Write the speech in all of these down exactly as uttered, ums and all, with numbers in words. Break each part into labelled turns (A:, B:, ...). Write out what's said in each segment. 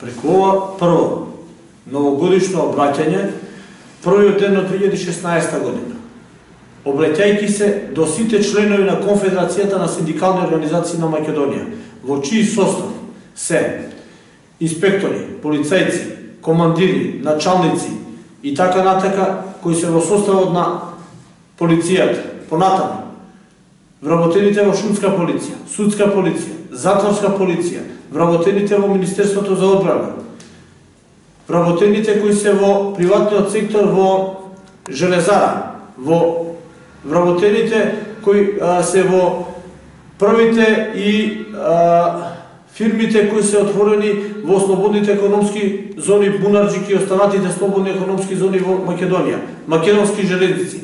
A: Преку ова прво новогодишно обраќање, првиот ден од две илјади и шеснаесета година, обраќајќи се до сите членови на Конфедерацијата на синдикални организации на Македонија, во чиј состав се инспектори, полицајци, командири, началници и така натака, кои се во составот на полицијата, понатаму, вработените во шумска полиција, судска полиција, затворска полиција, вработените во Министерството за одбрана, вработените кои се во приватниот сектор во железара, во вработените кои а, се во првите и а, фирмите кои се отворени во слободните економски зони Бунарџик и останатите слободни економски зони во Македонија, македонски железници.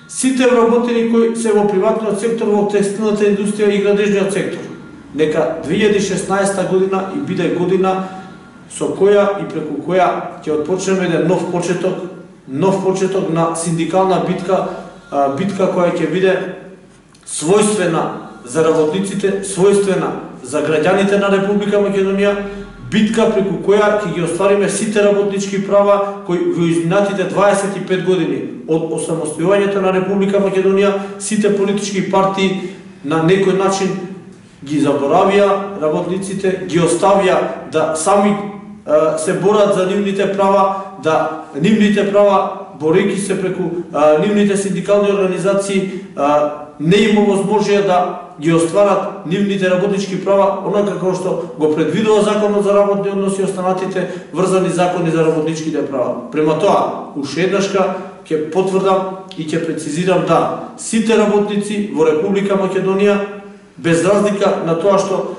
A: Сите вработени кои се во приватниот сектор, во текстилната индустрија и градежниот сектор. Нека две илјади и шеснаесета година и биде година со која и преку која ќе отпочнеме еден нов почеток, нов почеток на синдикална битка, битка која ќе биде својствена за работниците, својствена за граѓаните на Република Македонија, битка преку која ќе ги оствариме сите работнички права кои во изминатите дваесет и пет години од осамостојувањето на Република Македонија сите политички партии на некој начин ги заборавија работниците, ги оставија да сами е, се борат за нивните права, да нивните права, борејќи се преку е, нивните синдикални организации, е, не има возможија да ги остварат нивните работнички права, онака како што го предвидува Законот за работни односи и останатите врзани закони за работничките права. Према тоа, уште еднашка ќе потврдам и ќе прецизирам да сите работници во Република Македонија, без разлика на тоа што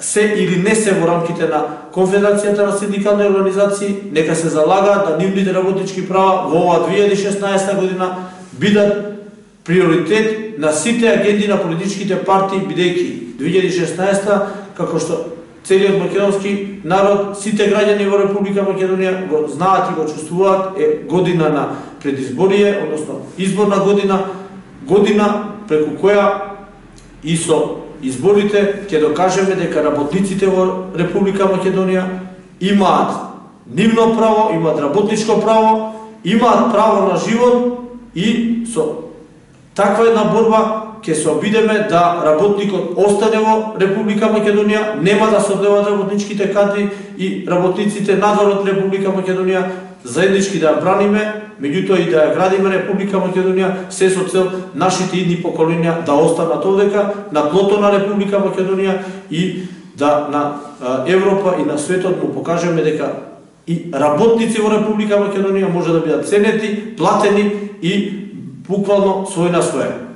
A: се или не се во рамките на Конфедерацијата на синдикални организации, нека се залагаат да нивните работнички права во ова две илјади и шеснаесета година бидат приоритет на сите агенди на политичките партии, бидејќи две илјади и шеснаесета, како што целиот македонски народ, сите граѓани во Република Македонија го знаат и го чувствуваат, е година на предизборие, односно изборна година, година преку која и со изборите ќе докажеме дека работниците во Република Македонија имаат нивно право, имаат работничко право, имаат право на живот и со таква една борба ќе се обидеме да работникот остане во Република Македонија, нема да се одлеваат работничките кадри и работниците надвор од Република Македонија, заеднички да ја браниме, меѓутоа и да ја градиме Република Македонија, се со цел нашите идни поколенија да останат овдека на тлото на Република Македонија и да на Европа и на светот му покажеме дека и работници во Република Македонија може да бидат ценети, платени и буквално свој на свој.